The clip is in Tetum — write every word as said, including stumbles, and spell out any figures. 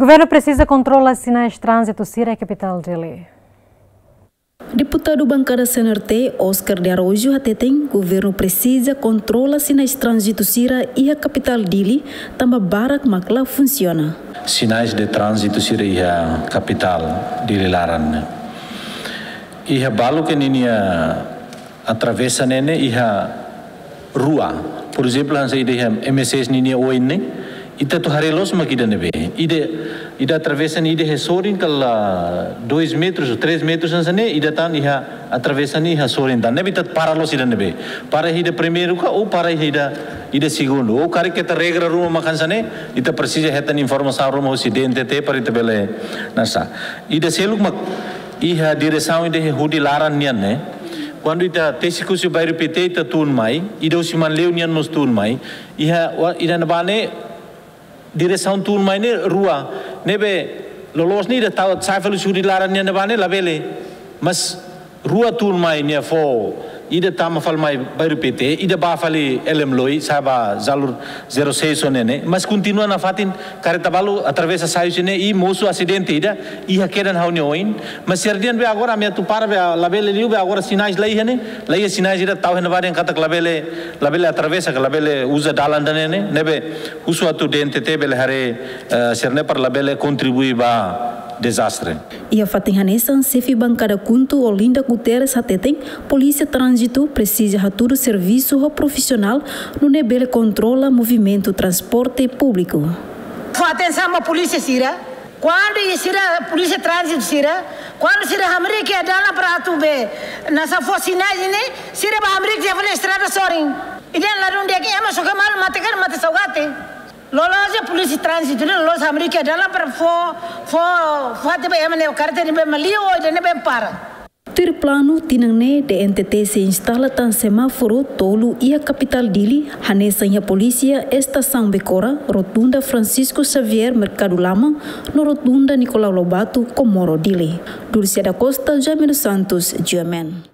Governu presiza kontrola sinais tránzitu sira iha kapitál Dili. Deputadu bankada C N R T, Oscar de Araújo, hateten governu presiza kontrola sinais tránzitu sira iha kapitál Dili, tanba barak mak la funsiona. Sinais de tránzitu sira iha kapitál Dili laran ne'e. Iha balu ke ninia atravesa ne'e ne'e iha rua. Por ezemplu, hanesan ida iha M S S ninia oin ne'e, ita atu haree loos mak ida ne'ebé. Ida, ida atravesa ne'e ida iha sorin kala dois metros ou três metros hanesan ne'e, ida tan iha atravesa ne'e iha sorin tan. Ne'ebé ita para loos ida ne'ebé. Para iha ida primeiru ka ou para iha ida, ida segundu. Ou karik ita regra ruma mak hanesan ne'e, ita presiza hetan informasaun ruma husi D N T T para ita bele nasa. Ida seluk mak iha diresaun ida iha Hudi laran nian ne'e. Kuandu ita tesi husi bairru P T ita tun mai, ida husi Manleu nian mós tun mai. Iha, wa-, ida ne'ebá ne'e diresaun tun mai ne'e rua. Ne'ebé loloos ne'e ida tau sai fali husi Hudi laran nian ne'ebá ne'e labele. Mas rua tun mai nia fó, ida tama fali mai bairru P T, ida bá fali Elem Loi, sa'e ba jalur zero seis sira ne'e ne'e. Mas kontinua nafatin kareta balu atravesa sai husi ne'e i mosu asidente ida, iha kedan ha'u-nia oin. Mas sira dehan be agora ami atu para be labele liu be agora sinais la iha ne'e, la iha sinais ida tau iha ne'ebá dehan katak labele, labele atravesa ka labele uza dalan ida ne'e ne'e, ne'ebé husu atu D N T T bele haree, eh, sira ne'e para labele kontribui ba dezastre. Iha fatin hanesan, xefe bankada KHUNTO Olinda Guterres hateten, polísia tránzitu presiza hatudu servisu ho profisionál, nune'e bele kontrola movimentu transporte públiku. Fó atensaun ba polísia sira, kuandu iha sira polísia tránzitu sira, kuandu sira hamriik iha dalan para atu be, nasa fó sinais ne'e, sira bá hamriik iha fali estrada sorin. Ida ladún di'ak, ema soke malu mate karik mate saugati. Loloos polísia tránzitu ne'e loloos hamriik iha dalan para fó, fó, fó atu be ema ne'e kareta ne'ebé mak liu ou ida ne'ebé para. Tuir planu, tinan ne'e D N T T sei instala tan semáforu tolu iha kapitál Dili, hanesan iha polísia, estasaun Becora, rotunda Francisco Xavier, Merkadu Lama, no rotunda Nicolau Lobato, Comoro Dili. Dulce da Costa, Jaime dos Santos, G M N.